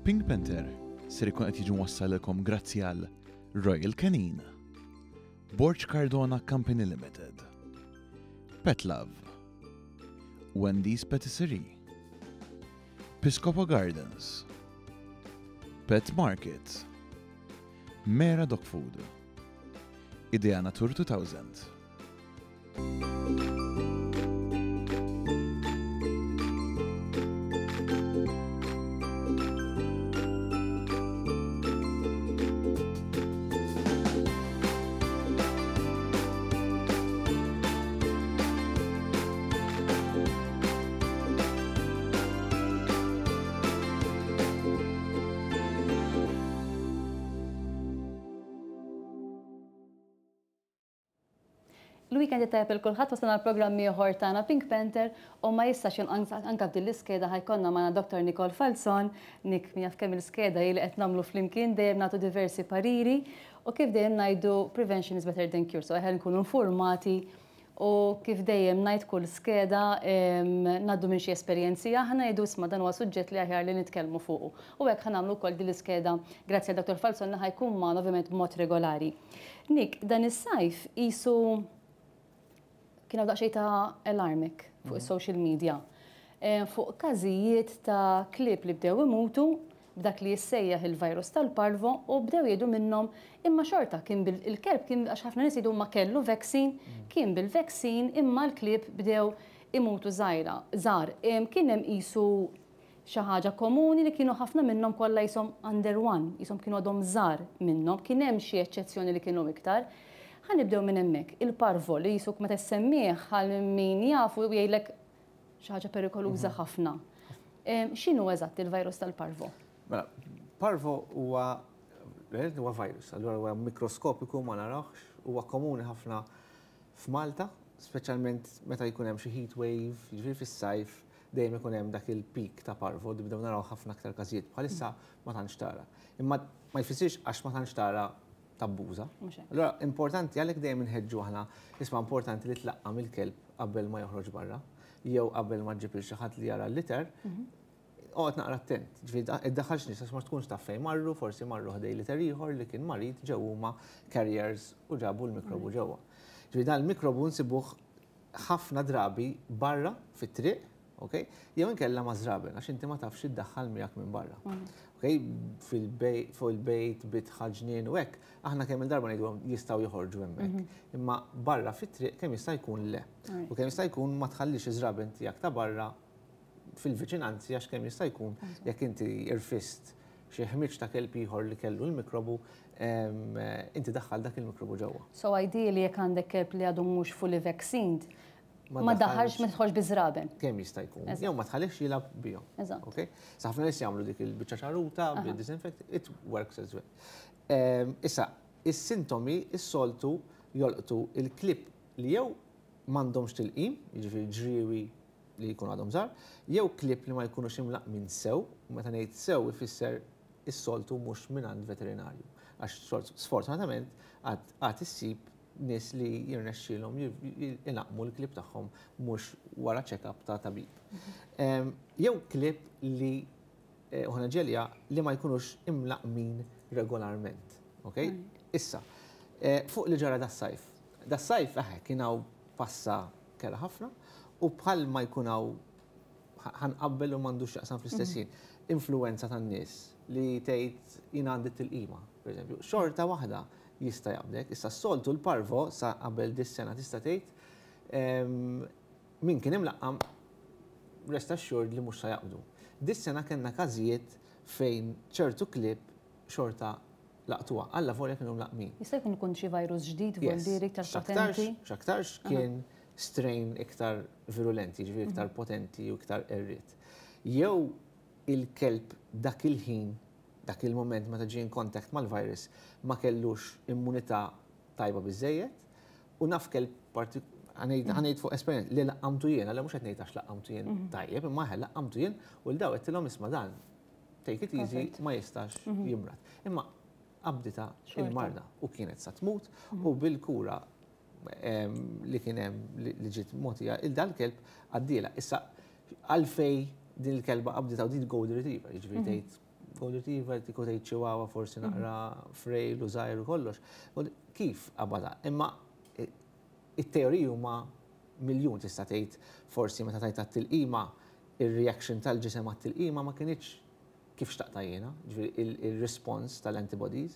Pink Panther ser ikun qed jiġi mwassalilkom grazzi għal Royal Canin, Borg Cardona Company Limited, Pet Love, Wendy's Patisserie, Piscopo Gardens, Pet Market, Mera Dog Food, Idea Natur 2000. Il-weekend it-tajjeb il kulħadd wasalna l-programm ieħor tagħna Pink Panther u ma jistax jonqos anke f'din l-iskeda ħa jkollna magħna Dr. Nicole Falzon, Nick min jaf kemm il-skeda hi li qed nagħmlu flimkien dejjem nagħtu diversi pariri u kif dejjem ngħidu prevention is better than cure, so aħjar nkunu informati u kif dejjem ngħid kull skeda ngħaddu minn xi esperjenzi aħna ngħidu isma' dan huwa suġġett li aħjar li nitkellmu fuqu. U hekk ħa nagħmlu wkoll din l-iskeda grazzi għal Dr. Falzon li ħa jkun magħna ovvjament b'mod regolari. Nick, dan is-sajf qisu kien hawn daqsxejn ta' alarm fuq is-social media fuq każijiet ta' klieb li bdew imutu b'dak li jissejjaħ il-virus tal-parvo u bdew jgħidu minnhom imma xorta kien bil il-kelb kien għax ħafna nies jgħidu ma kellu vaccine, kien bil-vaccine imma l-klieb bdew imutu żgħira, żgħar. Kien hemm qisu xi ħaġa komuni li kienu ħafna minnhom kollha qishom under one, qishom kienu għadhom żgħar minnhom, kien hemm xi eċċezzjoni li kienu iktar. Ħa nibdew minn hemmhekk. Il-parvo li qisuk meta ssemmih għal min jafu jgħidlek xi ħaġa perikoluża ħafna. X'inhu eżatt il-virus tal-parvo? Mela, parvo huwa huwa virus, allura huwa mikroskopiku ma narawhx, huwa komuni ħafna f'Malta, speċjalment meta jkun hemm xi heat wave, jiġifieri fis-sajf dejjem ikun hemm dak il-peak ta' parvo, nibdew naraw ħafna aktar każijiet. Bħalissa ma tantx tara. Imma ma jfissirx għax ma tantx tara tabbuża. Allura importanti għalhekk dejjem inħeġġu aħna, isma' importanti li tlaqqam il-kelb qabel ma joħroġ barra, jew qabel ma ġġib lil xi ħadd li jara l-litter, oqgħod naqra attent. Ġifieri iddaħħalx nies għax ma tkunx taf fejn marru, forsi marru ħdej litter ieħor li kien marid ġew huma carriers u ġabu l-mikrobu ġewwa. Ġifieri dan il-mikrobu nsibuh ħafna drabi barra fit-triq, ok? Jew inkella ma' żraben għax inti ma tafx iddaħħal miegħek minn barra. Ok? Fuq il-bejt, bitħa, ġnien u hekk, aħna kemm il-darba ngħidulhom jistgħu joħorġu hemmhekk. Imma barra fit-triq kemm jista' jkun le. U kemm jista' jkun ma tħallix iż-żraben tiegħek ta' barra fil-viċinanzi għax kemm jista' jkun jekk inti irfist xi ħmiġ ta' kelb ieħor li kellu l-mikrobu, inti daħħal dak il-mikrobu ġewwa. So ideally jekk għandek kelb li għadu mhux fully vaccinated, ma daħħalx ma tidħolx biż-żraben. Kemm jista' jkun. Jew ma tħallix jilgħab bihom. Eżatt. Okay? Sa ħafna nies jagħmlu dik il-biċċa ċaruta bil-disinfect, it works as well. Issa, is-sintomi s-soltu jolqtu il-klieb li jew m'għandhomx tilqim, jiġifieri ġriewi li jkunu għadhom żgħar, jew klieb li ma jkunux imlaqqmin sew, u meta ngħid sew ifisser is-soltu mhux mingħand veterinarju. Għax sfortunatament għad issib nies li jirnexxielhom ilaqqmu l-klieb tagħhom mhux wara check-up ta' tabib. Jew klieb li u ħana ġelja li ma jkunux imlaqqmin regolarment. Ok? Issa, fuq li ġara das-sajf. Das-sajf, eħe, kien hawn passa kerha ħafna u bħal ma jkun hawn ħa nqabbel u m'għandux x'jaqsam fl-istess ħin. Influenza tan-nies li tgħid jien għandi t-tilqima, per eżempju, xorta waħda jista' jaqbdek. Issa s-soltu l-parvo sa qabel dis-sena tista' tgħid min kien imlaqqam rest assured li mhux sa jaqbdu. Dis-sena kellna każijiet fejn ċertu klieb xorta laqtuha, alla volja kienu mlaqqmin. Jista' jkun ikun xi virus ġdid voldieri iktar potenti? X'aktarx kien strain iktar virulenti, jiġifieri iktar potenti u iktar qerried. Jew il-kelb dak il-ħin, dak il-moment meta ġie in contact mal-virus ma kellux immunità tajba biżżejjed u naf kelb ħa ngħid fuq esperjenza li laqqamtu jien, alla mhux qed ngħid għax laqqamtu jien tajjeb, imma eħe laqqamtu jien u l daw għedtilhom isma' dan take it easy ma jistax jimrad. Imma qabdita il-marda u kienet sa tmut u bil-kura li kien hemm li ġiet mogħtija il dal-kelb għaddiela. Issa għalfej din il-kelba qabdita u din golden retriever, jiġifieri tgħid. Golden Retriever, tiku tgħid chihuahua forsi naqra frail u żgħir u kollox. Kif qabadha? Imma it-teoriji huma miljun. Tista' tgħid forsi meta tajtha t-tilqima, ir-reaction tal-ġisem għat-tilqima ma kinitx kif xtaqta jiena, ġifieri il-response tal-antibodies.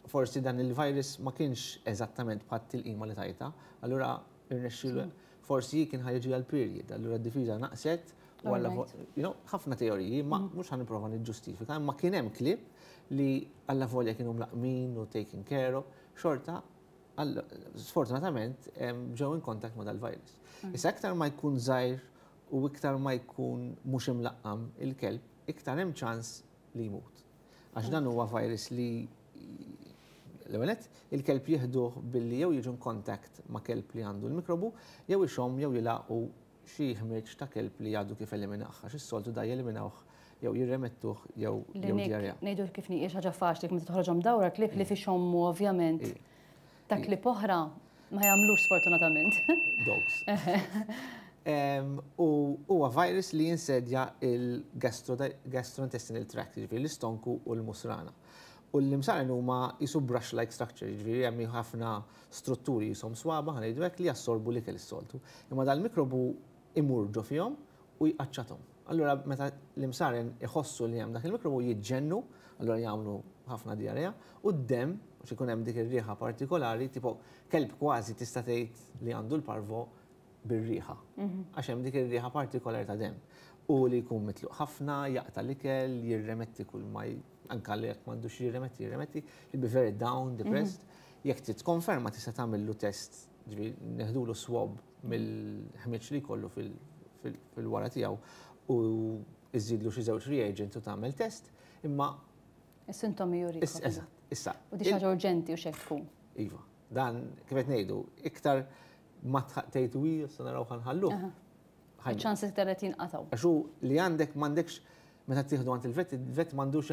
Forsi dan il-virus ma kienx eżattament bħat tilqima li tajta, allura irnexxielu, forsi kien ħa jiġi għal-period, allura d-difiża naqset u għalla, ħafna teoriji, ma mhux ħa nipprova niġġustifika, imma kien hemm klieb li alla volja kienu mlaqmin u taken care of, xorta sfortunatament ġew in contact ma dal-virus. Issa, iktar ma jkun żgħir u iktar ma jkun mhux imlaqqam il-kelb, iktar hemm ċans li jmut. Għax dan huwa virus li l-ewwel il-kelb jieħduh billi jew jiġu contact ma' kelb li għandu l-mikrobu, jew ixomm jew jilagħqu xi ħmieġ ta' kelb li għadu kif eliminah, għax is-soltu da jeliminawh jew jirremettuh jew diarrea. Ngħidu kif nieqiex ħaġa faċli meta toħroġhom dawra klieb li ixommu, ovvjament. Ta' klieb oħra ma jagħmlux, sfortunatament. Dogs. U huwa virus li jinsedja il-gastrointestinal tract, ġifieri l-istonku u l-musrana. U l-imsaren huma jisu brush-like structure, ġifieri hemm ħafna strutturi jisom swaba, ħa ngħidu hekk, li jassorbu l-ikel is-soltu. Imma dal-mikrobu imur ġo fihom u jqaċċathom. Allura meta l-imsaren iħossu li hemm dak il-mikrobu jiġġennu, allura jagħmlu ħafna diarrea, u d-dem, għax ikun hemm dik ir-riħa partikolari, tipo kelb kważi tista' tgħid li għandu l-parvo bir-riħa. Għax hemm dik ir-riħa partikolari ta' dem. U li jkun mitluq ħafna, jaqta' l-ikel, jirremetti kull ma anka li jekk m'għandux jirremetti, jirremetti, he'll be very down, depressed. Jekk trid tkonferma, tista' tagħmillu test, ġifieri neħdulu swab mill-ħmieġ li jkollu fil-wara tiegħu u iżidlu xi żewġ reagents u tagħmel test, imma Is-sintomi juri. Eżatt, issa. U di ħaġa urġenti u xek tkun. Iva, dan kif qed ngħidu, iktar ma tgħid u issa naraw, ħa nħalluh. Ċans iktar qed jinqatgħu. Għax hu li għandek m'għandekx meta tieħdu għand il-vet, il-vet m'għandux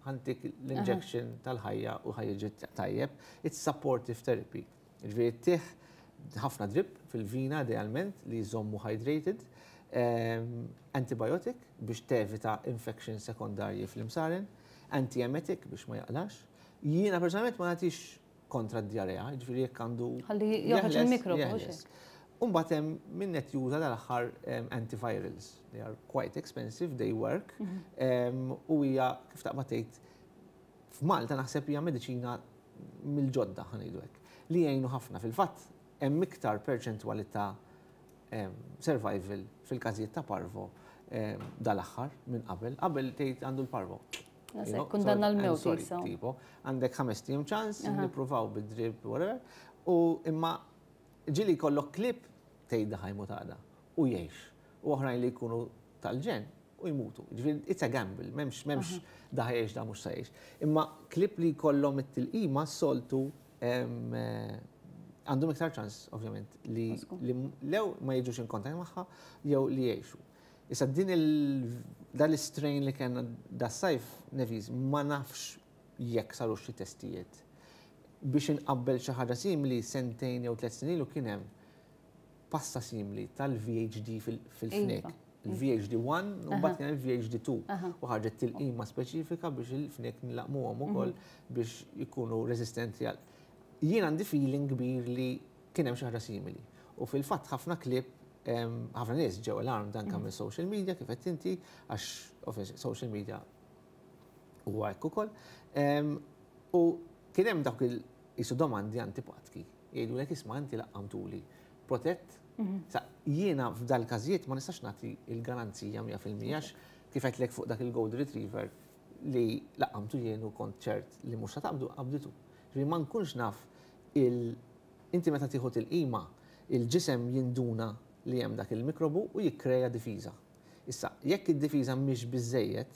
"ħa ntik l-injection tal-ħajja u ħa jiġi tajjeb." It's supportive therapy. Ġifieri ttih ħafna drip fil-vina idealment li jżommu hydrated, antibiotic biex tevita infection sekondarji fl-imsaren, antiemetic biex ma jaqlax. Jiena personalment ma nagħtix kontra d-diarrea, ġifieri jekk għandu Ħalli joħroġ il-mikrobu. Jeħles. Umbagħad hemm min qed juża dal-aħħar antivirals. They are quite expensive, they work. U hija, kif taqbad tgħid, f'Malta naħseb hija mediċina mill-ġodda, ħa ngħidu hekk, li jgħinu ħafna. Fil-fatt hemm iktar perċentwali ta' survival fil-każijiet ta' parvo dal-aħħar minn qabel. Qabel tgħid għandu l-parvo. Kundanna l-mewt. Tipo, għandek 5 ijiem ċans, nippruvaw bid-drip, whatever. U imma ġieli jkollok klieb tgħid ħa jmut għada u jgħix. U oħrajn li jkunu tal-ġenn u jmutu. Ġifieri it's a gamble, m'hemmx da ħa jgħix, da mhux se jgħix. Imma klieb li jkollhom it-tilqima soltu għandhom iktar ċans, ovvjament, li lew ma jiġux in contact magħha jew li jgħixu. Issa, din dal-strain li kien das-sajf Nevis, ma nafx jekk saru xi testijiet. Biex inqabbel xi ħaġa simili, sentejn jew 3 snin ilu kien hemm passa simili tal-VHD fil-fnek. Il-VHD 1 u mbagħad kien il-VHD 2. U ħarġet tilqima speċifika biex il-fnek nlaqmuhom ukoll biex ikunu resistenti għal. Jien għandi feeling kbir li kien hemm xi ħaġa simili. U fil-fatt ħafna klieb, ħafna nies ġew alarm dan kan minn social media, kif qed inti, għax social media huwa hekk ukoll. U kien hemm dawk il-jisu domandi antipatki. Jgħidu "Isma', inti laqqamtuli protett?" Sa jiena f'dal każijiet ma nistax nagħti il-garanzija 100% għax kif għedtlek fuq dak il-Gold Retriever li laqqamtu jien u kont ċert li mhux taqbdu, qabditu. Ġifieri ma nkunx naf il inti meta tieħu tilqima, il-ġisem jinduna li hemm dak il-mikrobu u jikkreja difiża. Issa, jekk id-difiża mhix biżejjed,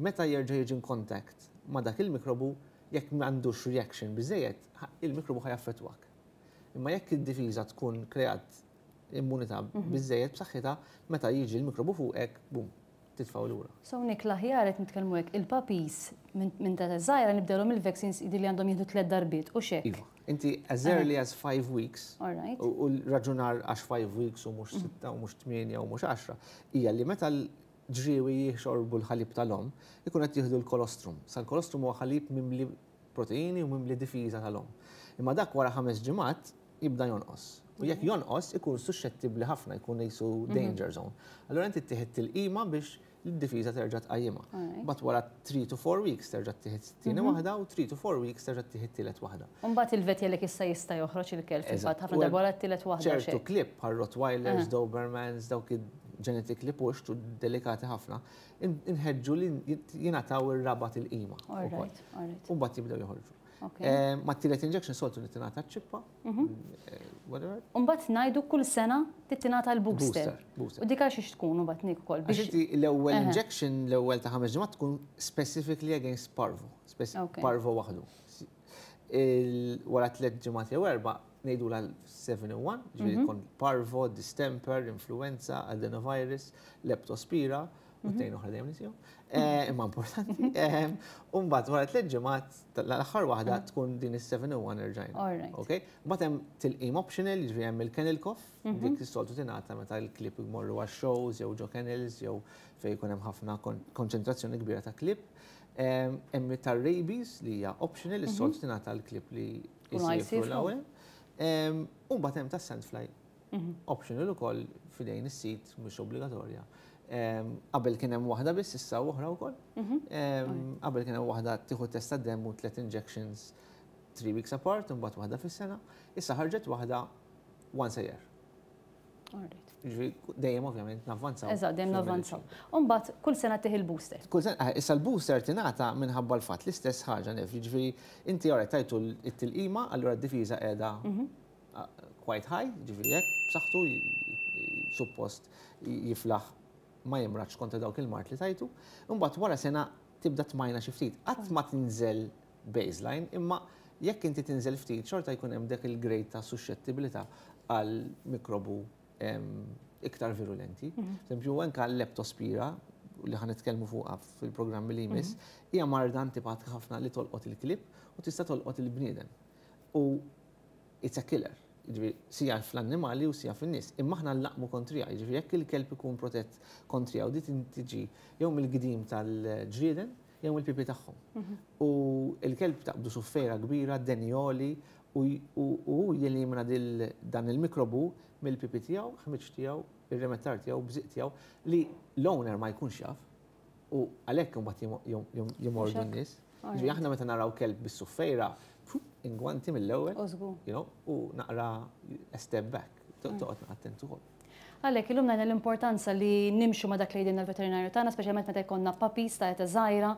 meta jerġa' jiġi in contact ma' dak il-mikrobu, jekk m'għandux reaction biżejjed, il-mikrobu ħa jaffettwak. Imma jekk id-difiża tkun kreat immunità biżejjed b'saħħitha, meta jiġi l-mikrobu fuqek, bum, titfgħu lura. So Nick, l-aħjar qed nitkellmu hekk, il-puppies minn ta' żgħira nibdewlhom il-vaccines li għandhom jieħdu tliet darbiet u xek. Iva. Inti as early as 5 weeks. U l-raġunar għax 5 weeks u mhux 6 u mhux 8 u mhux 10 hija li meta. ġriewi jixorbu l-ħalib tal-omm, ikun qed jieħdu l-kolostrum. Sa l-kolostrum huwa ħalib mimli proteini u mimli difiża tal-omm. Imma dak wara 5 ġimgħat jibda jonqos. U jekk jonqos ikun suxxettibbli ħafna, jkun qisu danger zone. Allura inti tieħed tilqima biex l-difiża terġa' tqajjimha. Mbagħad wara 3 to 4 weeks terġa' tieħed tieni waħda u 3 to 4 weeks terġa' tieħed tielet waħda. U mbagħad il-vet jgħidlek issa jista' joħroġ il-kelb fil-fatt ħafna darba wara t-tielet waħda. Ċertu klieb bħal Rottweilers, Dobermans, dawk genetically pushed u delikati ħafna, inħeġġu li jingħataw ir-raba' tilqima. U mbagħad jibdew joħorġu. Ma t-tielet injection soltu li tingħata ċ-ċippa. Whatever. U mbagħad ngħidu kull sena trid tingħata l-booster. Booster. U dik għal xiex tkun mbagħad nik ukoll. Għax inti l-ewwel injection, l-ewwel ta' 5 ġimgħat tkun specifically against parvo. Parvo waħdu. Wara 3 ġimgħat jew 4 ngħidu la 7 in 1, ġifieri tkun parvo, distemper, influenza, adenovirus, leptospira, u tnejn oħra dejjem nisihom. Imma importanti. U mbagħad wara 3 ġimgħat l-aħħar waħda tkun din is-7 in 1 irġajna. Okay? Mbagħad hemm tilqim optional, jiġifieri hemm il-kennel cough, dik is-soltu tingħata meta l-klieb jmorru għax-shows jew ġo kennels jew fejn jkun hemm ħafna konċentrazzjoni kbira ta' klieb. Hemm tar-rabies li hija optional, is-soltu tingħata l-klieb li jsifru l-ewwel. U mbagħad hemm tas-sandfly optional ukoll f'idejn is-sit, mhux obbligatorja. Qabel kien hemm waħda biss, issa oħra wkoll. Qabel kien hemm waħda tieħu test tad-demm u 3 injections 3 weeks apart, u mbagħad waħda fis-sena. Issa ħarġet waħda once a year. Ġifieri dejjem ovvjament navvanzaw. Eżatt, dejjem navvanzaw. U mbagħad kull sena tieħu l-booster. Kull sena, issa l-booster tingħata minħabba l-fatt l-istess ħaġa nif, jiġifieri inti ora tajtu t-tilqima, allura d-difiża qiegħda quite high, ġifieri hekk b'saħħtu suppost jiflaħ ma jimradx kontra dawk il-mard li tajtu. Imbagħad wara sena tibda tmajna xi ftit. Qatt ma tinżel baseline, imma jekk inti tinżel ftit xorta jkun hemm dak il-grade ta' suxxettibilità għal mikrobu iktar virulenti. Eżempju, anke l-leptospira li ħa nitkellmu fuqha fil-programmi li jmiss, hija marda antipatika ħafna li tolqot il-klieb u tista' tolqot il-bniedem. U it's a killer. Jiġifieri sija fl-annimali u sija fin-nies. Imma aħna nlaqmu kontriha, jiġifieri jekk il-kelb ikun protett kontriha u di tiġi jew mill-gdim tal-ġrieden jew mill-pipi tagħhom. U l-kelb taqbdu suffejra kbira, denjoli, u hu jelimina dan il-mikrobu mill-pipi tiegħu, ħmiġ tiegħu, ir-remettar tiegħu, bżiq tiegħu, li l-owner ma jkunx jaf. U għalhekk imbagħad jimordu n-nies. Ġifieri aħna meta naraw kelb bis-suffejra, ingwanti mill-ewwel, u naqra a step back, toqgħod naqra attent ukoll. Għalhekk illum ngħidna l-importanza li nimxu ma' dak li jgħidilna l-veterinarju tagħna, speċjalment meta jkollna puppies ta' età żgħira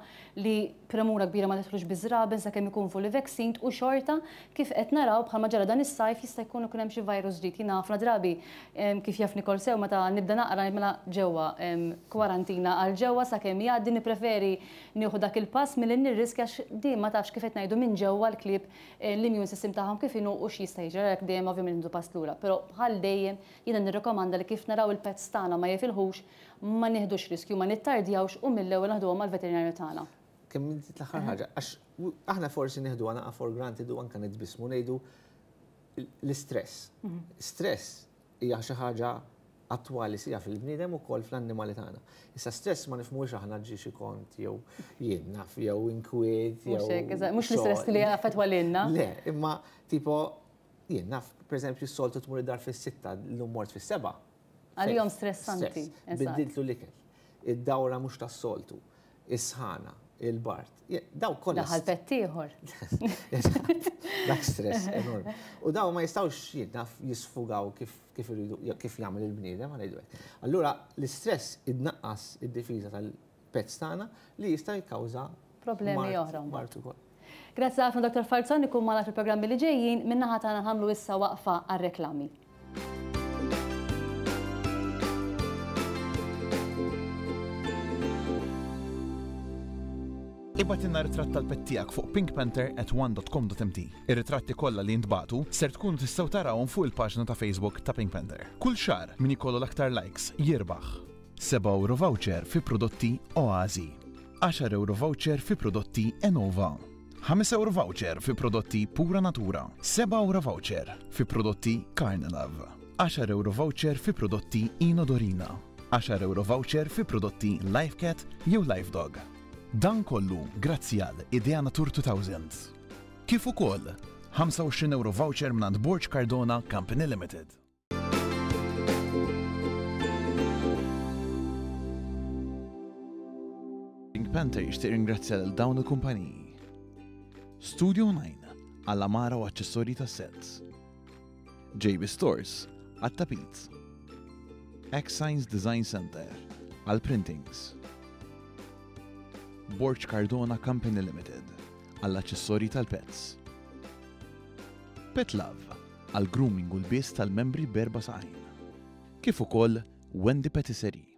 li premura kbira ma nidħlux biż-żraben sakemm ikun fully vaccinated u xorta kif qed naraw bħalma ġara dan is-sajf jista' jkun ikun hemm xi virus ġdid. Jiena ħafna drabi kif jaf Nicole sew meta nibda naqra ngħid mela ġewwa kwarantina għal ġewwa sakemm jgħaddi, nippreferi nieħu dak il-pass milli nirriskja għax din ma tafx kif qed ngħidu minn ġewwa l-klieb l-immune system tagħhom kif inhu u x'jista' jiġri, għalhekk dejjem ovvjament nieħdu pass lura. Però bħal dejjem jiena nirrikomanda li kif naraw il-pets tagħna ma jifilħux, ma nieħdux riskju, ma nittardjawx u mill-ewwel naħduhom mal-veterinarju tagħna. Kemm inti l-aħħar ħaġa, għax aħna forsi nieħdu naqa for granted u anke nitbismu ngħidu l-istress. Stress hija xi ħaġa attwali sija fil-bniedem ukoll fl-annimali tagħna. Issa stress ma nifhmux aħna ġi xi kont jew jien naf jew inkwiet jew Mhux hekk, eżatt, mhux l-istress li affettwa lilna. Le, imma tipo jien naf, pereżempju s-soltu tmur id-dar fis-6, llum mort fis-7. Għalihom stressanti, Stress. eżatt. Biddiltlu l-ikel. Id-dawra mhux tas-soltu, is-sħana, il-bard. Daw kollha Daħal pett ieħor. Dak stress enormi. U daw ma jistgħux jien naf jisfugaw kif iridu, kif jagħmel il-bniedem, ħa ngħidu hekk. Allura l-istress idnaqqas id-difiża tal-pets tagħna li jista' jikkawża problemi oħra mbagħad. mard ukoll. Grazzi ħafna Dr. Falzon, ikun magħna fil-programmi li ġejjin, min-naħa tagħna nagħmlu issa waqfa għar-reklami. Ibgħatilna ritratt tal-pet tiegħek fuq pinkpanther at one dot com dot mt. Ir-ritratti kollha li jintbagħtu ser tkunu tistgħu tarawhom fuq il-paġna ta' Facebook ta' Pink Panther. Kull xahar min ikollu l-aktar likes jirbaħ. 7 euro voucher fi prodotti Oasi. 10 euro voucher fi prodotti Enova. 5 euro voucher fi prodotti Pura Natura. 7 euro voucher fi prodotti Carnelove. 10 euro voucher fi prodotti Inodorina. 10 ewro voucher fi prodotti Life Cat jew Life Dog. Dan kollu grazzi għal Idea Natur 2000. Kif ukoll 25 ewro voucher mingħand Borg Cardona Company Limited. Pink Panther jixtieq ringrazzja lil dawn il-kumpaniji. Studio 9 għall-amara u aċċessorji tas-sets. JB Stores għat-tapit. X-Signs Design Center għall-printings. Borg Cardona Company Limited għall-aċċessorji tal-pets. Pet Love għall-grooming u lbies tal-membri b'erba' saqajn. Kif ukoll Wendy Patisserie.